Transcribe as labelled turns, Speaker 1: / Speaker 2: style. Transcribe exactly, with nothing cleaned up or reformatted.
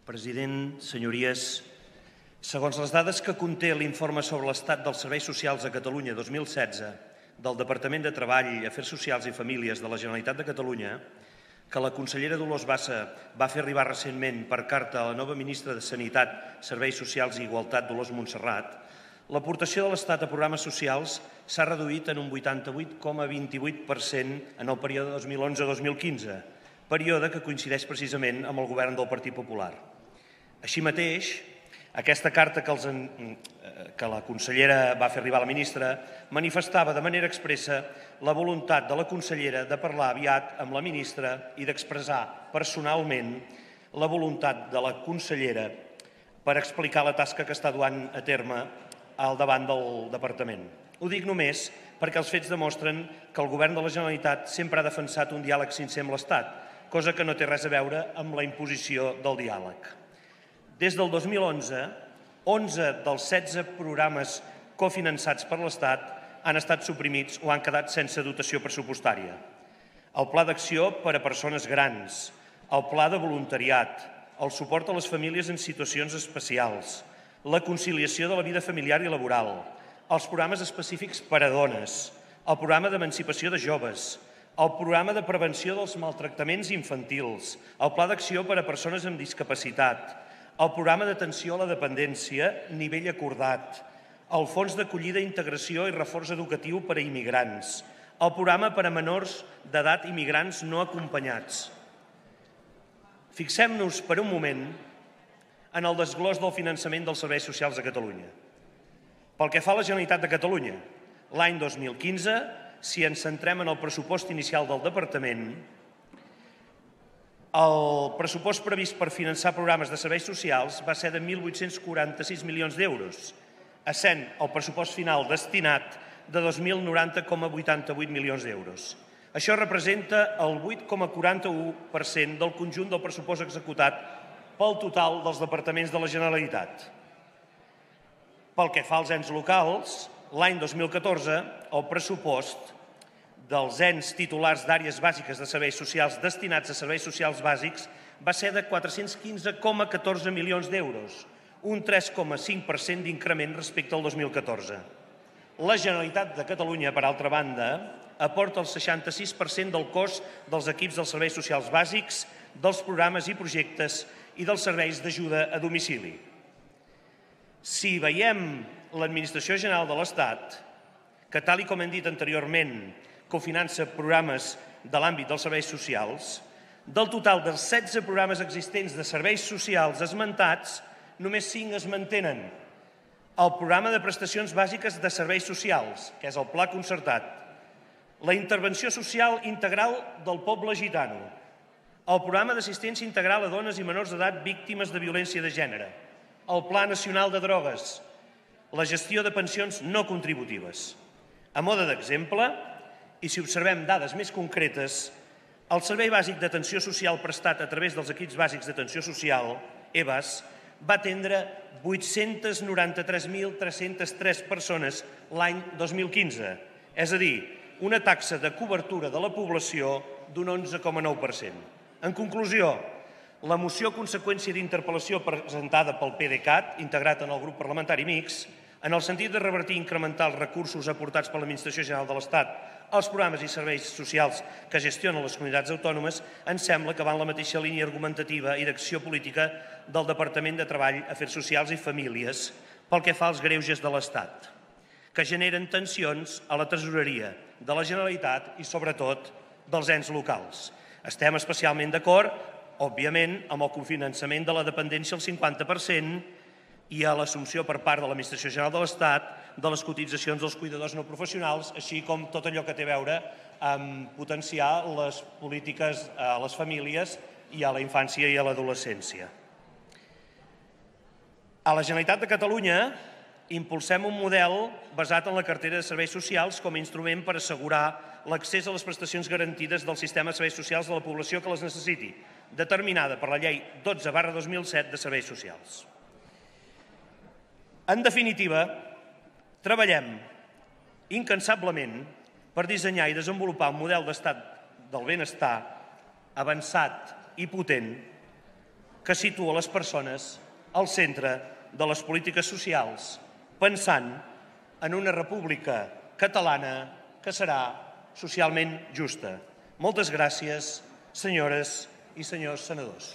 Speaker 1: President, senyories, segons les dades que conté l'informe sobre l'estat dels serveis socials a Catalunya dos mil setze del Departament de Treball, Afers Socials i Famílies de la Generalitat de Catalunya, que la consellera Dolors Bassa va fer arribar recentment per carta a la nova ministra de Sanitat, Serveis Socials i Igualtat, Dolors Montserrat, l'aportació de l'Estat a programes socials s'ha reduït en un vuitanta-vuit coma vint-i-vuit per cent en el període dos mil onze a dos mil quinze, període que coincideix precisament amb el govern del Partit Popular. Així mateix, aquesta carta que, els, que la consellera va fer arribar a la ministra manifestava de manera expressa la voluntat de la consellera de parlar aviat amb la ministra i d'expressar personalment la voluntat de la consellera per explicar la tasca que està duent a terme al davant del departament. Ho dic només perquè els fets demostren que el govern de la Generalitat sempre ha defensat un diàleg sincer amb l'Estat, cosa que no té res a veure amb la imposició del diàleg. Des del dos mil onze, onze dels setze programes cofinançats per l'Estat han estat suprimits o han quedat sense dotació pressupostària. El Pla d'Acció per a Persones Grans, el Pla de Voluntariat, el suport a les famílies en situacions especials, la conciliació de la vida familiar i laboral, els programes específics per a dones, el programa d'emancipació de joves, el programa de prevenció dels maltractaments infantils, el Pla d'Acció per a Persones amb Discapacitat, el programa d'atenció a la dependència, nivell acordat, el fons d'acollida, integració i reforç educatiu per a immigrants, el programa per a menors d'edat immigrants no acompanyats. Fixem-nos per un moment en el desglòs del finançament dels serveis socials a Catalunya. Pel que fa a la Generalitat de Catalunya, l'any dos mil quinze, si ens centrem en el pressupost inicial del Departament, el pressupost previst per finançar programes de serveis socials va ser de mil vuit-cents quaranta-sis milions d'euros, essent el pressupost final destinat de dos mil noranta coma vuitanta-vuit milions d'euros. Això representa el vuit coma quaranta-u per cent del conjunt del pressupost executat pel total dels departaments de la Generalitat. Pel que fa als ens locals, l'any dos mil catorze, el pressupost dels ens titulars d'àrees bàsiques de serveis socials destinats a serveis socials bàsics va ser de quatre-cents quinze coma catorze milions d'euros, un tres coma cinc per cent d'increment respecte al dos mil catorze. La Generalitat de Catalunya, per altra banda, aporta el seixanta-sis per cent del cost dels equips dels serveis socials bàsics, dels programes i projectes i dels serveis d'ajuda a domicili. Si veiem l'Administració General de l'Estat, que tal com hem dit anteriorment, cofinança programes de l'àmbit dels serveis socials, del total dels setze programes existents de serveis socials esmentats, només cinc es mantenen. El programa de prestacions bàsiques de serveis socials, que és el Pla Concertat, la intervenció social integral del poble gitano, el programa d'assistència integral a dones i menors d'edat víctimes de violència de gènere, el Pla Nacional de Drogues, la gestió de pensions no contributives. A mode d'exemple, i si observem dades més concretes, el Servei Bàsic d'Atenció Social prestat a través dels equips bàsics d'atenció social, E B A S, va atendre vuit-cents noranta-tres mil tres-cents tres persones l'any dos mil quinze, és a dir, una taxa de cobertura de la població d'un onze coma nou per cent. En conclusió, la moció conseqüència d'interpel·lació presentada pel PDeCAT, integrat en el grup parlamentari mixt, en el sentit de revertir i incrementar els recursos aportats per l'Administració General de l'Estat als programes i serveis socials que gestionen les comunitats autònomes, ens sembla que va en la mateixa línia argumentativa i d'acció política del Departament de Treball, Afers Socials i Famílies pel que fa als greuges de l'Estat, que generen tensions a la tresoreria de la Generalitat i, sobretot, dels ens locals. Estem especialment d'acord, òbviament, amb el cofinançament de la dependència al cinquanta per cent i a l'assumpció per part de l'Administració General de l'Estat de les cotitzacions dels cuidadors no professionals, així com tot allò que té a veure amb potenciar les polítiques a les famílies i a la infància i a l'adolescència. A la Generalitat de Catalunya impulsem un model basat en la cartera de serveis socials com a instrument per assegurar l'accés a les prestacions garantides del sistema de serveis socials de la població que les necessiti, determinada per la llei dotze barra dos mil set de serveis socials. En definitiva, treballem incansablement per dissenyar i desenvolupar un model d'estat del benestar avançat i potent que situa les persones al centre de les polítiques socials, pensant en una república catalana que serà socialment justa. Moltes gràcies, senyores i senyors senadors.